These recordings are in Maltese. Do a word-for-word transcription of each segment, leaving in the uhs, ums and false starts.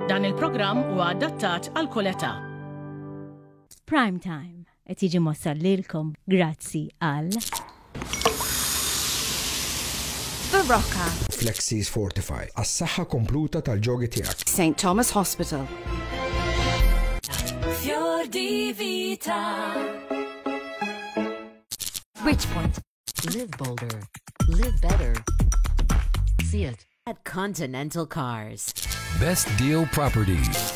Dan il-programm huwa adattat għal kull età. Prime Time qed jiġi mwassal lilkom grazzi għal Berocca. Flexis Fortify, għas-saħħa kompluta tal-ġogi tiegħek. Saint Thomas Hospital. Fior di Vita. Bridgepoint. Live bolder. Live better. See it at Continental Cars. Best Deal Properties.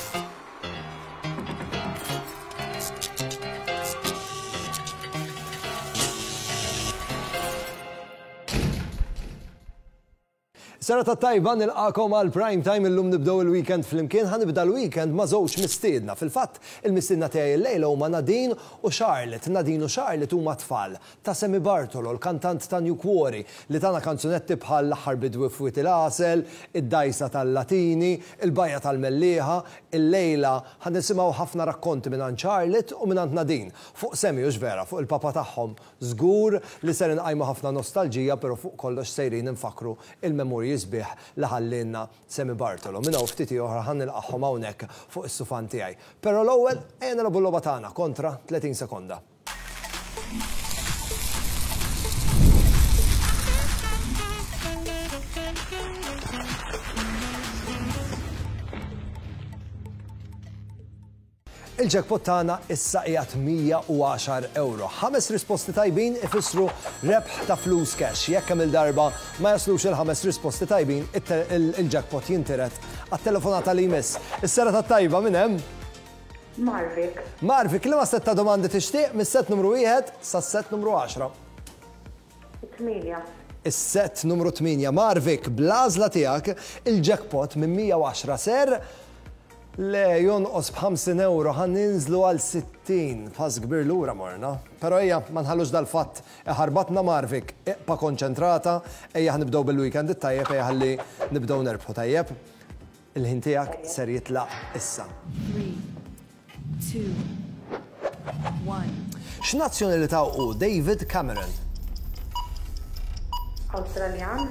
Serata tajba, nilqagħkom għal Prime Time. Illum nibdew il-weekend flimkien. Ħa nibda l-weekend ma' żewġ mistiedna. Fil-fatt, il-mistiedna tiegħi llejla huma Nadine u Charlotte. Nadine u Charlotte huma tfal ta' Sammy Bartolo, l-kantant ta' New Quarry, li tana kanzunetti bħal L-Aħħar Bidwi f'Wied il-Għasel, id-Dajsa tal-Latini, il-Bajja tal-Mellieħa. Illejla ħa nisimgħu ħafna rakkonti minn Charlotte u minn Nadine fuq Sammy, u vera, fuq il-papa tagħhom. Żgur li ser inqajmu ħafna nostalġija, però fuq kollox sejrin infakru il-memorji sbieħ li ħallinna Sammy Bartolo. Minn hawn ftit oħra ħa nilqagħhom hawnhekk fuq is-sufan tiegħi. Però l-ewwel ejja nilagħbu l-logħba tagħna kontra tletin sekonda. Il-jackpot tagħna issa qiegħed mija u għaxar euro. Ħames risposti tajbin ifissru rebħ ta' flus cash. Jekk kemm il-darba ma jaslux il-ħames risposti tajbin, il-jackpot jintiret għat-telefonata li jmiss. Is-serata tajba, minn hemm? Marvik. Marvik, liema sett ta' domandi tixtieq mis-set numru wieħed sa' set numru għaxra? Tmienja. Is-set numru tmienja. Marvik, bl-għażla tiegħek il-jackpot minn mija u għaxra ser le jonqos b'ħamsin euro, ħa ninżlu għal sittin, pass kbir lura morna. Però ejja, ma nħallux dal-fatt iħarbatna. Marvik, ibqa' konċentrata, ejja ħa nibdew bil-weekend it-tajjeb, ejja ħalli nibdew nerbħu tajjeb. Il-ħin tiegħek ser jitlaq issa. Three, two, one. X'nazzjonalità hu David Cameron? Awstraljan.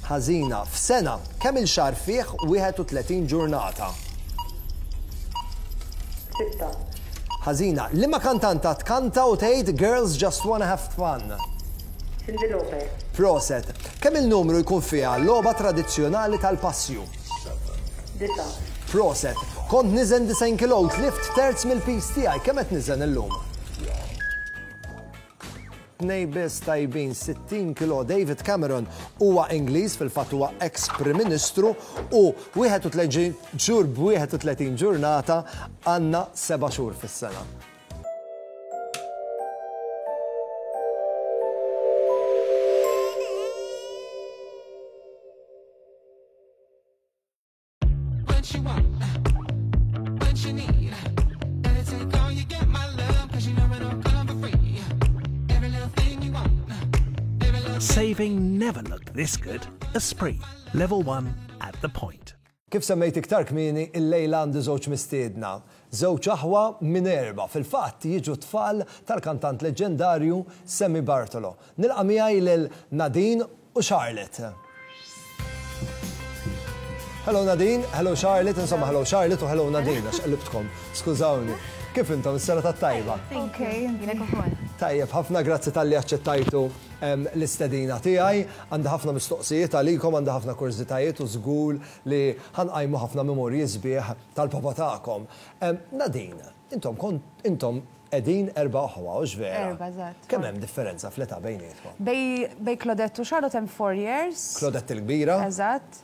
Ħażina. F'sena, kemm il-xahar fih wieħed u tletin ġurnata? Sitta. Ħażina. Liema kantanta tkanta u tgħid "Girls Just Wanna Have Fun"? Cyndi Lauper. Proset. Kemm il-numru jkun fiha logħba tradizzjonali tal-passju? Disgħa. Proset. Kont niżen disgħin kilo u tlift terz mill-piż tiegħi. Kemm qed niżen illum? Tnejn biss tajbin, sittin kilo. David Cameron huwa Ingliż, fil-fatt huwa ex Prim Ministru, u wieħed u tletin xahar b'wieħed u tletin ġurnata, għandna seba' xhur fis-sena. What you want, what you need. Better take all you get, my love, 'cause you know it don't come for free. Every little thing you want, every little Saving never looked this good. Esprit, level one at the point. Kif semmejt iktar kmieni, il-lejla għandi żewġ mistiedna. Żewġ aħwa minn erba', fil-fatt jiġu tfal tal-kantant leġendarju Sammy Bartolo. Nilqa' miegħi lil Nadine u Charlotte. Hello Nadine, hello Charlotte, insomma hello Charlotte u hello Nadine, għax qlibtkom, skużawni. Kif intom, is-serata tajba? Ok, lilek ukoll. Tajjeb, ħafna grazzi talli aċċettajtu em, l-istedina tiegħi. Għandi ħafna mistoqsijiet għalikom, għandi ħafna kurżitajiet u żgur li ħa nqajmu ħafna memorji sbieħ tal-papa tagħkom. Em, Nadine, intom kont intom qegħdin erba' aħwa, hux vera? Erba', eżatt. Kemm hemm differenza fl-età bejnietkom? Bejn, bejn Claudette u Charlotte hemm four years. Claudette il-kbira? Eżatt.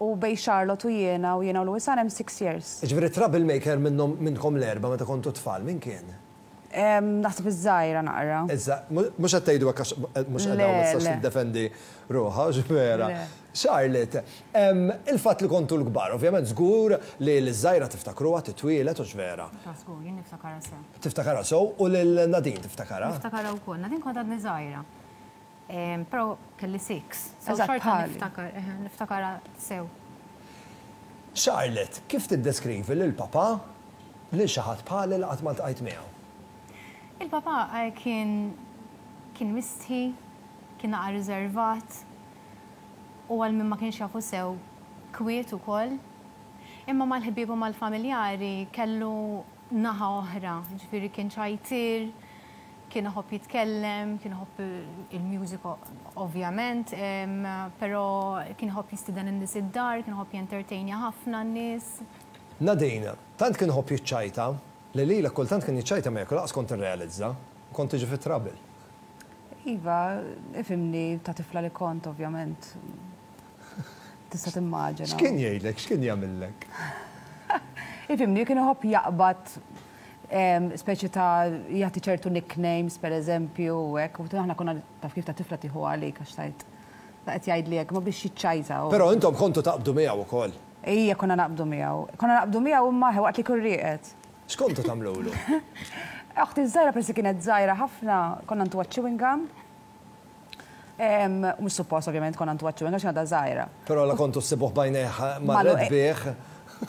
U bejn Charlotte u jiena u jiena u Louisanne hemm six years. Ġifieri troublemaker minnhom minnkom l-erba' meta kontu tfal, min kien? Em, Naħseb iż-żgħira naqra. Issa, mhux qed tgħidu hekk għax mhux Le, qed ma tistax le. tiddefendi ruħha, vera. Le. Charlotte, em, il-fatt li kontu l-kbar, ovvjament żgur li l-żgħira tiftakruha titwielet, hux vera? Ta' żgur, jien niftakarha sew. Tiftakarha sew, u lil Nadine tiftakarha? Niftakarha wkoll. Nadine kont għadni żgħira. Em, Però kelli six. So Eżatt, xorta bħali. niftakar, eh, niftakarha sew. Charlotte, kif tiddeskrivi lil papa lil xi ħadd bħali li qatt ma ltqajt miegħu? Il-papa eh, kien kien mistħi, kien naqra riservat u għal min ma kienx jafu sew kwiet ukoll. Imma mal-ħbieb u mal-familjari kellu naħa oħra, ġifieri kien ċajtir, kien iħobb jitkellem, kien iħobb il-music ovvjament, però kien iħobb jistieden in-nies id-dar, kien iħobb jentertainja ħafna n-nies. Nadine, tant kien iħobb jiċċajta, li lilek kultant kien jiċċajta miegħek u lanqas kont tirrealizza, kont tiġi fit trouble. Iva, ifhimni ta' tifla li kont, ovvjament. Tista' timmaġina. X'kien jgħidlek, x'kien jagħmillek? Ifhimni, kien iħobb jaqbad speċi ta' jagħti ċertu nicknames, per eżempju, u hekk, u aħna konna taf kif ta' tifla tieħu għalik għax tajt. Ta' qed jgħidli hekk, ma biex jiċċajta. Però intom kontu taqbdu miegħu ukoll. Ija konna naqbdu miegħu. Konna naqbdu miegħu imma waqt li kun rieqed. X'kontu tagħmlulu? Oħti żgħira persi kienet żgħira ħafna, konna ntuha chewing gum. Mhux suppost ovvjament konna ntuha chewing gum għax għadha żgħira. Però la kontu ssibuh b'għajnejh marret bih.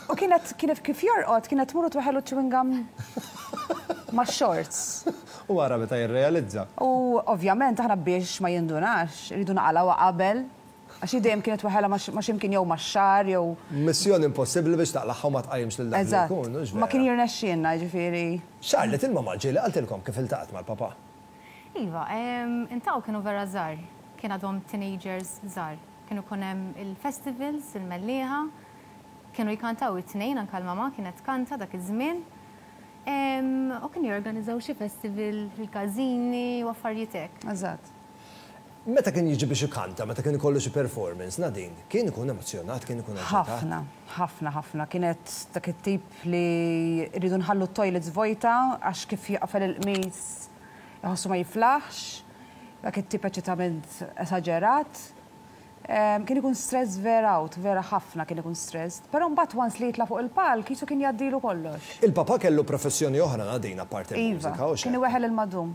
U kienet kienet kif jorqod, kienet tmur u tweħħellu chewing gum ma' shorts. U wara meta jirrealizza. U ovvjament aħna biex ma jindunax, rridu naqalgħuha qabel. Għax dejjem kienet tweħħelha ma' ximkien jew ma' xar jew. Missjoni impossibbli biex taqlagħha u ma tqajjimx lil dak li jkun, hux Ma kien jirnexxielna, ġifieri. Charlotte, il-mamma ġieli qaltilkom kif iltaqgħet mal-papà. Iva, intaw kienu vera żgħar, kien għadhom teenagers żgħar. Kienu jkun hemm il-festivals, il-Mellieħa, kienu jkantaw it-tnejn, anka l-mama kienet kanta dak iż-żmien. U kienu jorganizzaw xi festival fil-każini u affarijiet hekk. Eżatt. Meta kien jiġi biex ikanta, meta kien ikollu xi performance, Nadine, kien ikun emozjonat, kien ikun aġitat? Ħafna, ħafna, ħafna. Kienet dak it-tip li rridu nħallu t-toilets vojta għax kif jaqfel il-qmis jħossu ma jiflaħx, dak it-tip eċitament esaġerat. Kien ikun stress vera out, vera ħafna kien ikun stress. Però mbagħad once li jitla' fuq il-palk, jisu kien jgħaddilu kollox. Il-papa kellu professjoni oħra Nadine apparti Iva, il-mużika, u kien iweħel il-madum.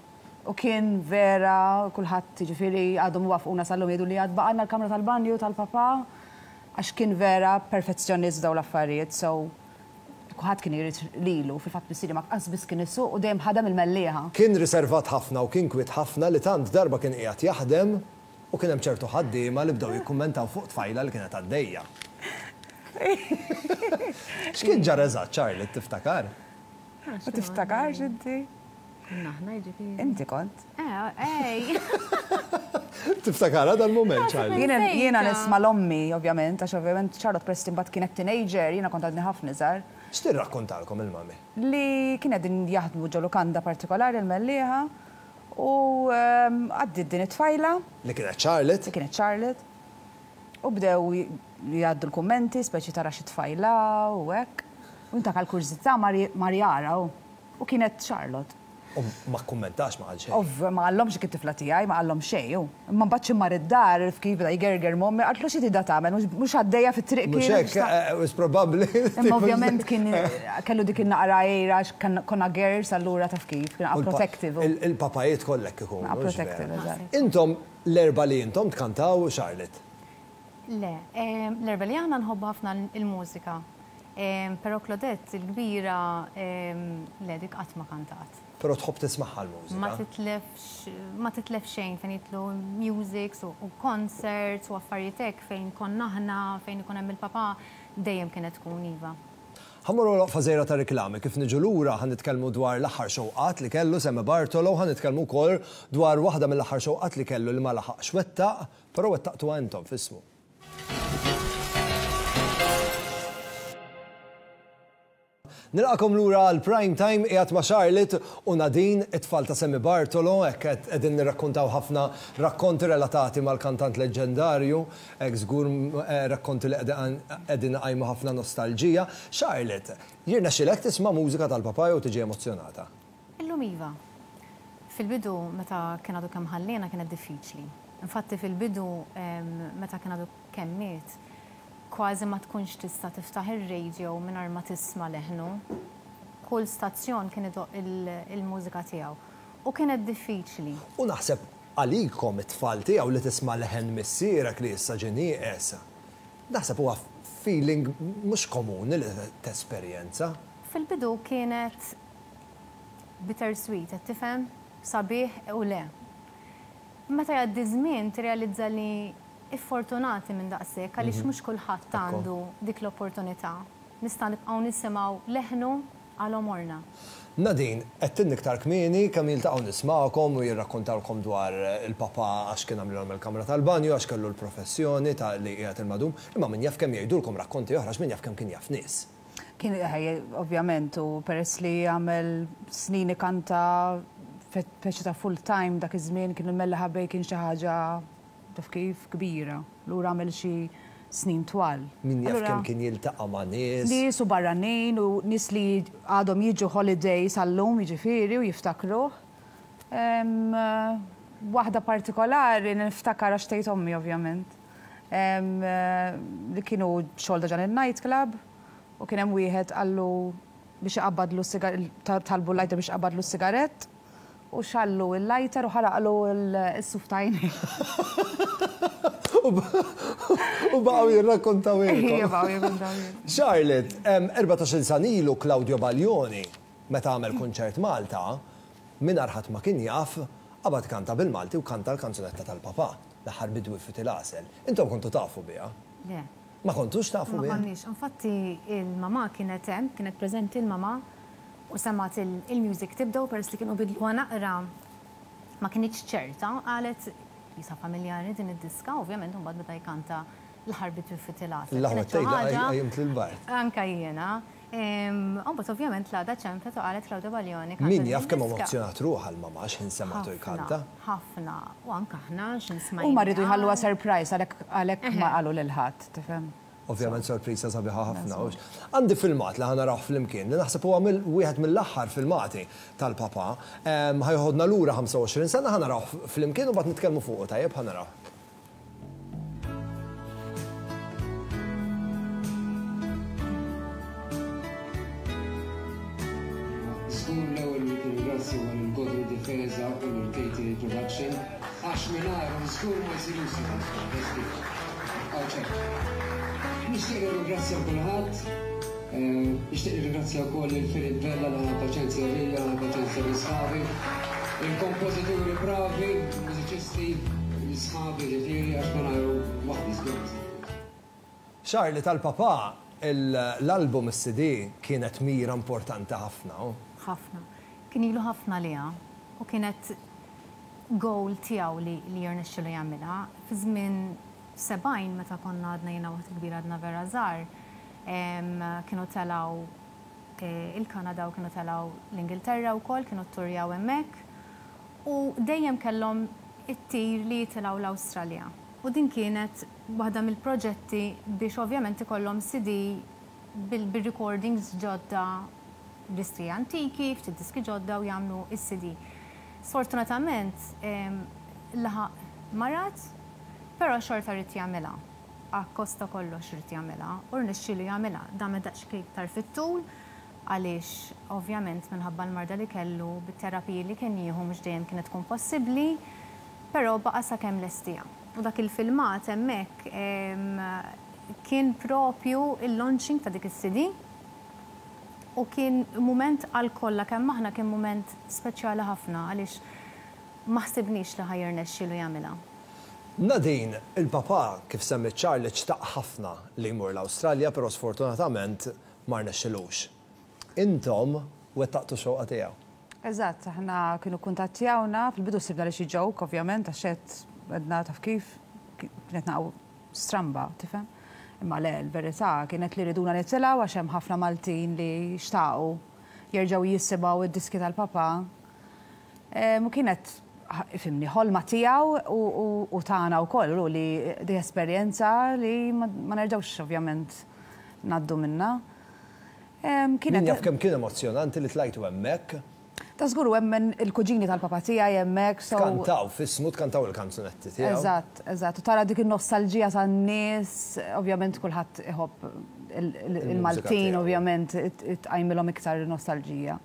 U kien vera, kulħadd ġifieri għadhom wafquna sal-lum jgħidu li għad baqgħalna l-kamra tal-banju tal-papa, għax kien vera perfezzjonist daw l-affarijiet, so kulħadd kien irid lilu, fil-fatt missieri ma qas biss kien isuq u dejjem ħadem il-Mellieħa. Kien riservat ħafna u kien kwiet ħafna li tant darba kien qiegħed jaħdem u kien hemm ċertu ħaddiema li bdew jikkummentaw fuq tfajla li kienet għaddejja. X'kien ġara eżatt, Charlotte, tiftakar? Ma tiftakarx inti? Aħna ġifieri. Inti kont. Eh, ej. Tiftakara dal-moment, Charlotte? Jiena jiena nisma' l-ommi, ovvjament, għax ovvjament Charlotte Preston mbagħad kienet teenager, jiena kont għadni ħafna iżgħar. X'tirrakkontalkom il-mami? Li kien qegħdin jaħdmu ġo lukanda partikolari l-Mellieħa u għaddiet din it-tfajla. Li kienet Charlotte? Li kienet Charlotte. U bdew jgħaddu l-kummenti, speċi tara xi tfajla u hekk. U inta għal-kurżità mar jara u kienet Charlotte. U ma kkummentax ma qal xejn. Ov, ma qallhomx kif tifla tiegħi, ma qallhom xejn. Imma mbagħad xi mar id-dar kif beda jgerger m'ommi, qaltlu xi tida tagħmel, mhux għaddejja fit-triq Mhux kien. hekk, was probabbli. Imma ovvjament kien kellu dik in-naqra għira konna girls allura taf kif, kien protective. Il-papajiet kollek ikunu. Naqra protective, eżatt. Intom l-erba li intom tkantaw Charlotte? Le, l-erba li aħna nħobbu ħafna il-mużika. Però Claudette, il-kbira, le dik qatt ma kantat. Però tħobb tismagħha l-mużika. Ma titlefx, ma titlef xejn fejn jitlu musics u concerts u affarijiet hekk fejn konna aħna, fejn ikun hemm il-papa, dejjem kienet tkun iva. Ħa mmorru waqfa żgħira ta' reklami, kif niġu lura ħa nitkellmu dwar l-aħħar xewqat li kellu Sammy Bartolo, ħa nitkellmu wkoll dwar waħda mill-aħħar xewqat li kellu li ma laħaqx wettaq, però wettaqtu intom f'ismu. Nilqakom lura għal prime time qiegħed ma' Charlotte u Nadine, it-tfal ta' Sammy Bartolo, hekk qed qegħdin nirrakkontaw ħafna rakkonti relatati mal-kantant leġendarju, hekk żgur rakkonti li qegħdin iqajmu ħafna nostalġija. Charlotte, jirnexxilek tisma' mużika tal-papa jew tiġi emozzjonata? Illum iva. Fil-bidu meta kien għadu kemm ħallina kienet diffiċli. Infatti fil-bidu meta kien għadu kemm miet, kważi ma tkunx tista' tiftaħ ir-radio mingħajr ma tisma' leħnu. Kull stazzjon kien idoq il-mużika tiegħu. U kienet diffiċli. U naħseb għalikom it-tfal tiegħu li tisma' leħen missierek li issa ġie nieqes. Naħseb huwa feeling mhux komuni li tesperjenza. Fil-bidu kienet bittersweet, qed tifhem? Sabiħ u le. Meta jgħaddi żmien tirrealizza li iffortunati minn daqshekk għaliex mhux kulħadd għandu dik l-opportunità. Nista' nibqgħu nisimgħu leħnu għal għomorna. Nadine, għedtilna iktar kmieni kemm jiltaqgħu nismagħkom u jirrakkontawlkom dwar il-papa għax kien għamlilhom il-kamra tal-banju, għax kellu l-professjoni ta' li qiegħed il-madum, imma min jaf kemm jgħidulkom rakkonti oħra, għax min jaf kemm kien jaf nies. Kien ovvjament, u peress li għamel snin ikanta speċi ta' full time dak iż-żmien, kien il-Mellaħa Bay kien xi ħaġa taf kif kbira. Lura għamel xi snin twal. Min jaf kemm kien jiltaqa' ma' nies. Nies u barranin u nies li għadhom jiġu holiday sal-lum jiġifieri u jiftakruh. Waħda partikolari niftakar għax tgħid ommi ovvjament. Li kienu xogħol ġan il-nightclub u kien hemm wieħed qallu biex iqabbadlu talbu l-lighter biex iqabbadlu s-sigarett u xgħallu il-lighter u ħaraqlu s-suf t'għajnejh. U baqgħu jirrakkontaw. Charlotte, erbatax-il sena ilu Claudio Baglioni, meta għamel kunċert Malta, mingħajr ħadd ma kien jaf, qabad kanta bil-Malti u kanta l-kanzunetta tal-papa, L-aħħar bidwi fit il-għasel. Intom kontu tafu biha? Le. Ma kontux tafu Ma biha? konniex. Infatti il-mama kienet hemm, kienet preżenti il-mama u semgħet il-music tibda u peress li kienu bidluha naqra ma kinitx ċerta, qalet jisa familjari din id-diska, ovvjament mbagħad beda jkanta L-aħħar bidwi fit il-għasel. L-aħħar tgħidha qajjimt lil-Bart. Anka jiena. Mbagħad ovvjament l-għada ċempet u qalet Claudio Baglioni. Min jaf kemm emozzjonat ruħha l-mama x'ħin semgħatu jkanta. Ħafna. U anka aħna x'in smajna. Huma rridu jħalluha surprise għalhekk ma qalu lil ħadd, tifhem? Ovvjament sorpriża sabiħa ħafna. Għandi filmat li ħa narawh flimkien li naħseb huwa wieħed mill-aħħar filmati tal-papa. Ħa jeħodna lura ħamsa u għoxrin sena, ħa narawh flimkien u mbagħad nitkellmu fuqu, tajjeb, ħa narawh. Żgur l-ewwel li nirringrazzja huwa lil Godwin Difesa u lil Katie Production għax mingħajrhom żgur ma jsirux Nixtieq nirringrazzja kulħadd, nixtieq nirringrazzja wkoll lil Philip Vella li ħa paċenzja bija, ħa paċenzja bi sħabi, il-kompożituri bravi, mużiċisti, l-sħabi ġifieri għax mingħajru waħdi żgur. Charlie, tal-papa, l-album is-C D kienet mira importanti ħafna. Ħafna. Kien ilu ħafna liha u kienet goal tiegħu li li jirnexxilu jagħmilha. Fi żmien sebgħin meta konna għadna jiena waħda kbira għadna vera żgħar, kienu telgħu il-Kanada u kienu telgħu l-Ingilterra wkoll, kienu tturjaw hemmhekk u dejjem kellhom it-tir li jitilgħu l-Awstralja. U din kienet waħda mill-proġetti biex ovvjament ikollhom C D bil-recordings ġodda, diski antiki, ftit diski ġodda u jagħmlu is-C D. Sfortunatament laħaq marad, però xorta ried jagħmilha. Akkost ta' kollox ried jagħmilha u rnexxielu jagħmilha. Damet daqsxejn iktar fit-tul għaliex ovvjament minħabba l-marda li kellu bit-terapiji li kien jieħu mhux dejjem kienet tkun possibbli, però baqa' sakemm lestiha. U dak il-filmat hemmhekk kien propju il-launching ta' dik is-C D u kien moment għal kollha kemm aħna, kien moment speċjali ħafna għaliex ma ħsibniex li ħa jirnexxielu jagħmilha. Nadine, il-papa kif semmi Charlie xtaq ħafna li jmur l-Awstralja, però sfortunatament ma rnexxilux. Intom wettaqtu xewqa tiegħu. Eżatt, aħna kienu kuntattjawna, fil-bidu sibna li xi joke, ovvjament, għax għedna taf kif, kienet naqra stramba, tifhem? Imma le, l-verità kienet li riduna nitilgħu għax hemm ħafna Maltin li xtaqu jerġgħu jisimgħu id-diski tal-papa. U kienet, ifhimni, ħolma tiegħu u tagħna wkoll u li di esperjenza li ma nerġgħux ovvjament ngħaddu minna. Kienet jaf kemm kien emozjonanti li tlajtu hemmhekk. Ta' żgur, hemmen il-kuġini tal-papa tiegħi hemmhekk. Kantaw, f'ismu tkantaw il-kanzunetti tiegħu. Eżatt, eżatt. U tara dik il-nostalġija tan-nies, ovvjament kulħadd iħobb il-Maltin, ovvjament tqajmilhom iktar nostalġija.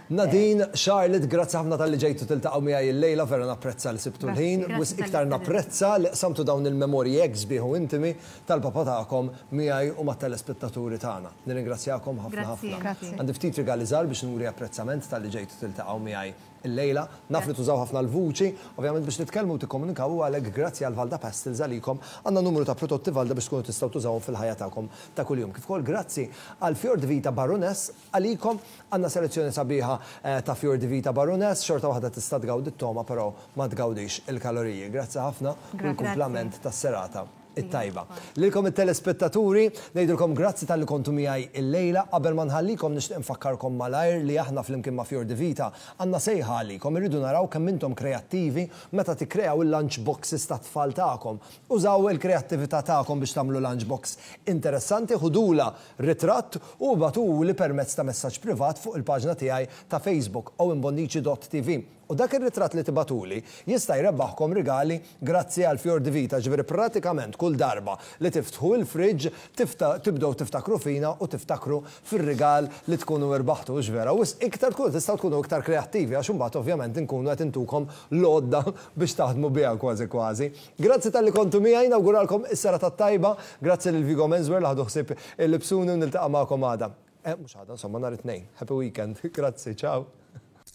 Nadine, Charlotte, grazzi ħafna talli ġejtu tiltaqgħu miegħi il-lejla, vera napprezza li sibtu l-ħin, wisq iktar napprezza li qsamtu dawn il-memorji hekk sbieħ u intimi tal-papa tagħkom miegħi u mat-telespettaturi tagħna. Nirringrazzjakom ħafna ħafna. Għandi ftit rigali żgħar biex nuri apprezzament talli ġejtu tiltaqgħu miegħi Illejla, naf li tużaw ħafna l-vuċi, ovvjament biex titkellmu u tikkomunikaw, u għalhekk grazzi għal Valda Pastels għalikom għandna numru ta' prodotti Valda biex tkunu tistgħu tużawhom fil-ħajja tagħkom ta' kuljum. Kif ukoll grazzi għal Fior di Vita Baroness, għalikom għandna selezzjoni sabiħa eh, ta' Fior di Vita Baroness, xorta waħda tista' tgawdi t-togħma, però ma tgawdix il-kaloriji. Grazzi ħafna u l-kumplament tas-serata it-tajba. Lilkom it-telespettaturi, ngħidulkom grazzi talli kontu miegħi illejla. Qabel ma nħallikom, nixtieq nfakkarkom malajr li aħna flimkien ma' Fior di Vita għandna sejħa għalikom. Irridu naraw kemm intom kreattivi meta tikkreaw il-lunch boxes ta' tfal tagħkom. Użaw il-kreattività tagħkom biex tagħmlu lunch box interessanti, ħudula ritratt u ibagħtuli permezz ta' messaġġ privat fuq il-paġna tiegħi ta' Facebook, owenbonnici dot T V. U dak ir-ritratt li tibagħtuli jista' jrebbaħkom rigali grazzi għal Fior di Vita, ġifieri pratikament kull darba li tiftħu il-fridge tibdew tiftakru fina u tiftakru fir-rigal li tkunu irbaħtu, vera. U iktar tkunu tistgħu tkunu iktar kreattivi, għax imbagħad ovvjament inkunu qed intukom l-għodda biex taħdmu biha kważi kważi. Grazzi talli kontu miegħi, nawguralkom is-serata tajba, grazzi lil Vigo Menswear li ħadu ħsieb il-libsuni, u niltaqa' magħkom għada. Eh, mhux għada, insomma, nhar it-Tnejn. Happy weekend. Grazzi, ciao.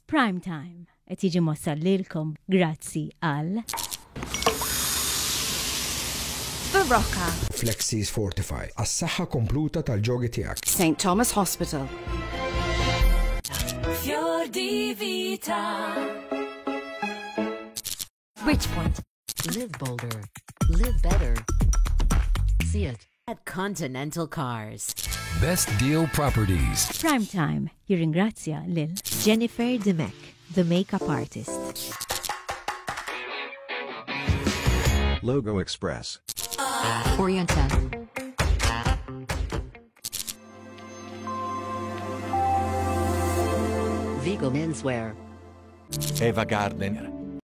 Prime Time qed jiġi mwassal lilkom grazzi għal Barocca. Flexis Fortify għas-saħħa kompluta tal-ġogi tiegħek. Saint Thomas Hospital. Fior di Vita. Bridgepoint. Live bolder. Live better. See it at Continental Cars. Best Deal Properties. Prime Time jirringrazzja lil Jennifer Dimech, the makeup artist. Logo Express. Orienta. Vigo Menswear. Eva Gardner.